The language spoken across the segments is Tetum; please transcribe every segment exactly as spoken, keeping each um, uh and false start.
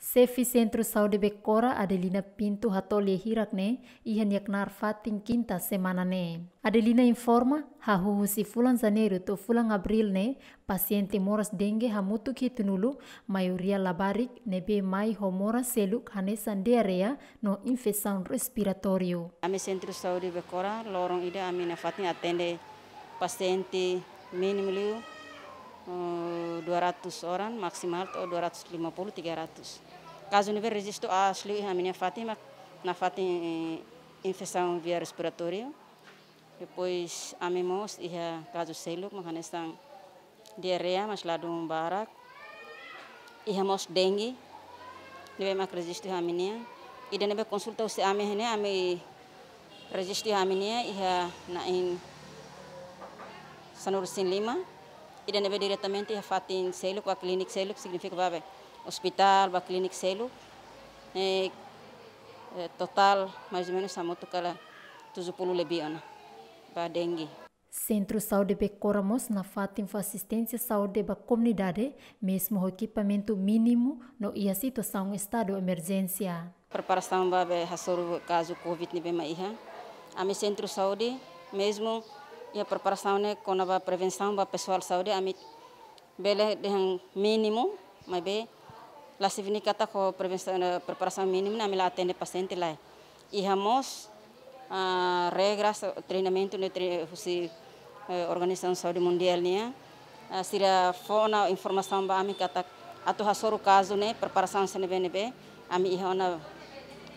Xefe Sentru Saúde Becora, Adelina Pinto, hato'o lia hirak ne'e iha nia knaar fatin kinta semana ne'e. Adelina informa, hahú husi fulan Janeiru to'o fulan Abríl ne'e, pasiente moras dengue hamutuk hitunulu, maioria labarik, ne'ebé mai ho moras seluk hanesan diarreia no infesaun respiratóriu. Ami Sentru Saúde Becora, loron ida ami nafatin atende pasiente mínimu liu, eh, dua ratus orang, maksimal to'o dua ratus lima puluh, tiga ratus. Kazu ne'ebé rejistu aas liu iha ami-nia fatin mak nafatin, eh, infesaun via respiratóriu. Depois ami mós iha kazu seluk mak hanesan diarreia, mas ladún barak. Iha mós dengue ne'ebé mak rejistu iha ami-nian. Ida ne'ebé konsulta husi ami ne'e, ami rejistu iha ami-nian iha na'in sanulu-resin-lima. Ida ne'ebé diretamente iha fatin seluk, ba klinik seluk, signifika ba be ospitál, ba klinik seluk. Eh, eh, totál mais ou menus hamutuk kala tujuh puluh lebih ona ba dengue. Sentru Saúde Becora mós nafatin fó asisténsia saúde ba komunidade, mezmu ho ekipamentu mínimu no iha situasaun estadu emerjénsia. Preparasaun ba be hasoru kazu covid ne'ebé mak iha. Ami Sentru Saúde, mezmu iha preparasaun ne'e kona-ba prevensaun ba pesoál saúde, ami bele dehan mínimu, maibé la signifika katak ho prevensaun, eh, preparasaun mínimu ne'e ami la atende pasiente, lae. Iha mós, ah, regras, treinamentu ne'e tre-, husi, eh, Organizasaun Saúde Mundiál nian. Ah, sira fó ona informasaun ba ami katak atu hasoru kazu ne'e, preparasaun sira ne'ebé-ne'ebé, ami iha ona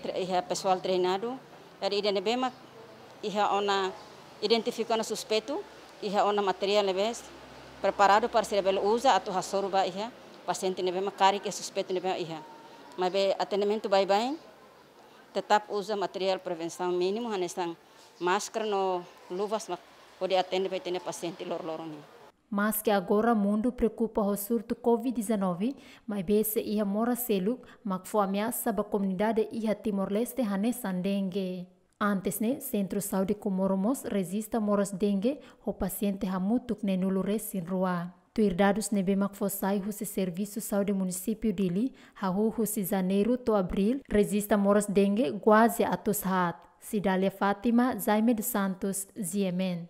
tre-, iha pesoál treinadu. Jadi ida ne'ebé mak iha ona identifika ona suspeitu, iha ona materiál ne'ebé preparadu para sira bele uza atu hasoru ba iha pasiente ne'ebé mak karik iha suspeitu ne'ebé iha. Maibé atendimentu baibain, tetap uza materiál prevensaun mínimu, hanesan máskara no luvas mak hodi atende ba ita-nia pasiente loroloron nian. Maske agora mundu preokupa ho surtu covid dezanove, maibé sei iha moras seluk mak fó ameasa ba komunidade iha Timor-Leste hanesan dengue. Antes ne'e, Sentru Saúde Comoro mós rejista moras dengue ho pasiente hamutuk neenulu-resin-rua. Tuir dadus ne'ebé mak fó sai husi Servisu Saúde Munisípiu Dili, hahú husi Janeiru to'o Abríl, rejista moras dengue kuaze atus haat. Cidália Fátima, Jaime dos Santos, G M N.